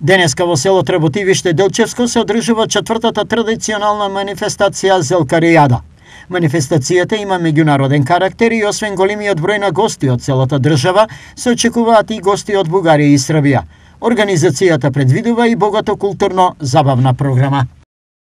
Денеска во село Треботивиште Делчевско се одржува 4-та традиционална манифестација Зелкаријада. Манифестацијата има меѓународен карактер и освен големиот број на гости од целата држава, се очекуваат и гости од Бугарија и Србија. Организацијата предвидува и богато културно-забавна програма.